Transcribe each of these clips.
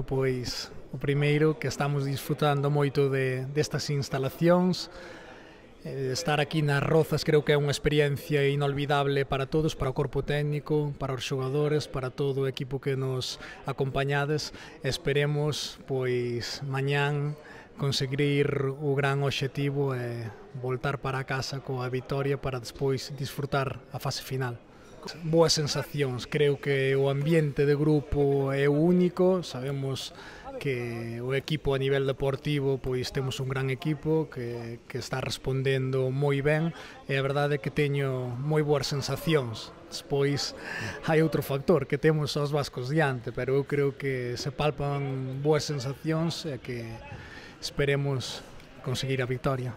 Pois, o primeiro, que estamos disfrutando moito destas instalacións. Estar aquí nas Rozas creo que é unha experiencia inolvidable para todos, para o corpo técnico, para os xogadores, para todo o equipo que nos acompañades. Esperemos, pois, mañán conseguir o gran obxectivo e voltar para casa coa vitoria para despois disfrutar a fase final. Boas sensacións, creo que o ambiente de grupo é único, sabemos que o equipo a nivel deportivo pois temos un gran equipo que está respondendo moi ben e a verdade é que teño moi boas sensacións. Despois hai outro factor que temos aos vascos diante, pero eu creo que se palpan boas sensacións e que esperemos conseguir a victoria.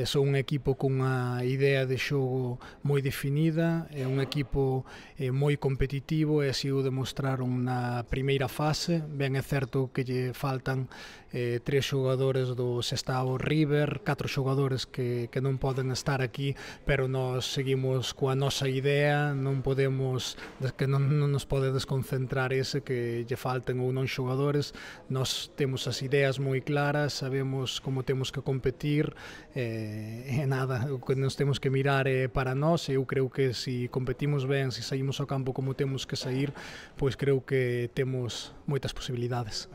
Son un equipo cunha idea de xogo moi definida, é un equipo moi competitivo e así o demostraron na primeira fase. Ben é certo que lle faltan 3 xogadores do Sestao River, 4 xogadores que non poden estar aquí, pero nós seguimos coa nosa idea, non nos pode desconcentrar ese que lle falten ou non xogadores. Nós temos as ideas moi claras, sabemos como temos que competir, e nada, o que nos temos que mirar é para nós. Eu creo que se competimos ben, se saímos ao campo como temos que sair, pois creo que temos moitas posibilidades.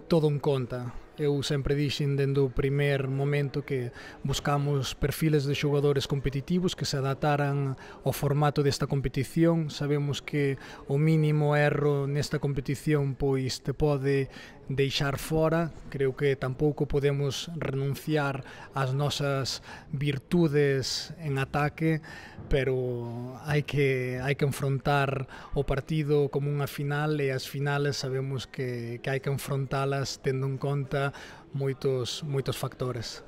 Todo en conta. Eu sempre dixen dende o primer momento que buscamos perfiles de xogadores competitivos que se adaptaran ao formato desta competición. Sabemos que o mínimo erro nesta competición pois te pode deixar fora. Creo que tampouco podemos renunciar ás nosas virtudes en ataque, pero hai que enfrontar o partido como unha final e as finales sabemos que hai que enfrontalas tendo en conta moitos factores.